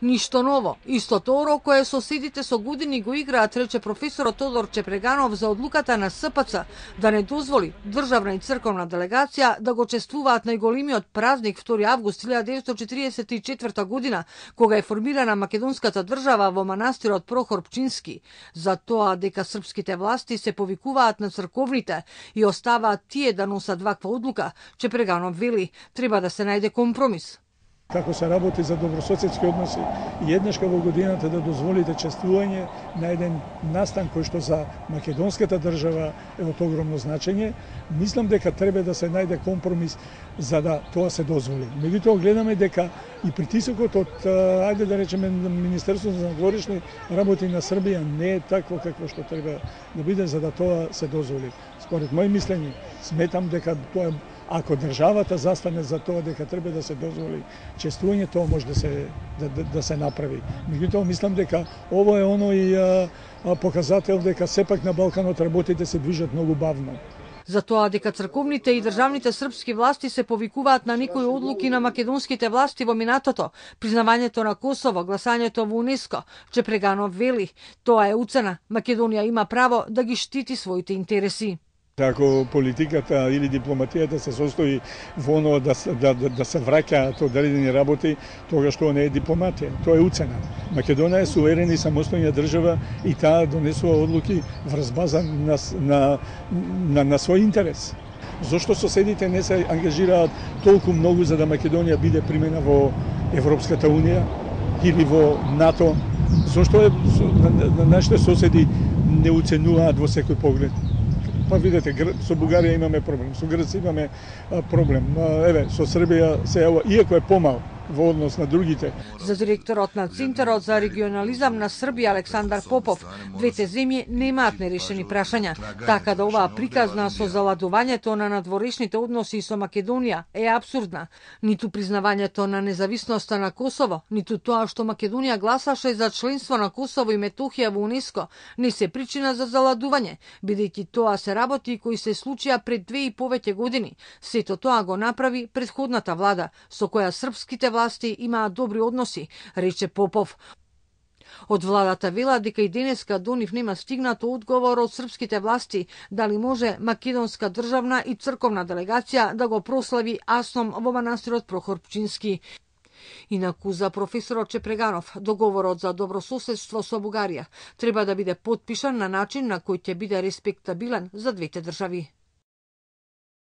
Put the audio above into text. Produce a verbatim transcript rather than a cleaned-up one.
Ништо ново. Истото оро кое соседите со години го играат, рече професорот Тодор Чепреганов за одлуката на С П Ц да не дозволи државна и црковна делегација да го чествуваат најголемиот празник втори август илјада деветстотини четиридесет и четврта година, кога е формирана македонската држава во манастирот Прохор Пчински, за тоа дека српските власти се повикуваат на црковните и оставаат тие да носат ваква одлука. Чепреганов вели, треба да се најде компромис. Како се работи за добрососедски односи и еднашка во годината да дозволите чествување на еден настан кој што за македонската држава е од огромно значење, мислам дека треба да се најде компромис за да тоа се дозволи. Меѓутоа гледаме дека и притисокот од, ајде да речеме, Министерството за надворешни работи на Србија не е такво какво што треба да биде за да тоа се дозволи. Според мој мислење, сметам дека тоа е ако државата застане за тоа дека треба да се дозволи чествување, тоа може да се да, да, да се направи. Меѓутоа мислам дека ово е оној а, а, показател дека сепак на Балканот работите се движат многу бавно. За тоа дека црковните и државните српски власти се повикуваат на некои одлуки на македонските власти во минатото, признавањето на Косово, гласањето во УНЕСКО, Чепреганов вели, тоа е уцена. Македонија има право да ги штити своите интереси. Ако политиката или дипломатијата се состои во оно да, да, да, да се враќаат одредени работи, тогаш тоа не е дипломатија, тоа е уцена. Македонија е суверена и самостојна држава и таа донесува одлуки врз база на, на, на, на свој интерес. Зошто соседите не се ангажираат толку многу за да Македонија биде примена во Европската Унија или во НАТО? Зошто е, на, на нашите соседи не уценуваат во секој поглед? Па видете, со Бугарија имаме проблем, со Грција имаме проблем. Еве, со Србија се иако е помал во однос на другите. За директорот на Центарот за регионализам на Србија Александар Попов, двете земји немаат нерешени прашања, така да оваа приказна со заладувањето на надворешните односи со Македонија е апсурдна. Ниту признавањето на независноста на Косово, ниту тоа што Македонија гласаше за членство на Косово и Метохија во УНЕСКО не се причина за заладување, бидејќи тоа се работи кои се случија пред две и повеќе години. Сето тоа го направи претходната влада, со која српските власти имаат добри односи, рече Попов. Од владата вела дека и денеска до нив нема стигнато одговор од српските власти дали може македонска државна и црковна делегација да го прослави Асном во манастирот Прохор Пчински. Инаку за професорот Чепреганов, договорот за добрососедство со Бугарија треба да биде потпишан на начин на кој ќе биде респектабилен за двете држави.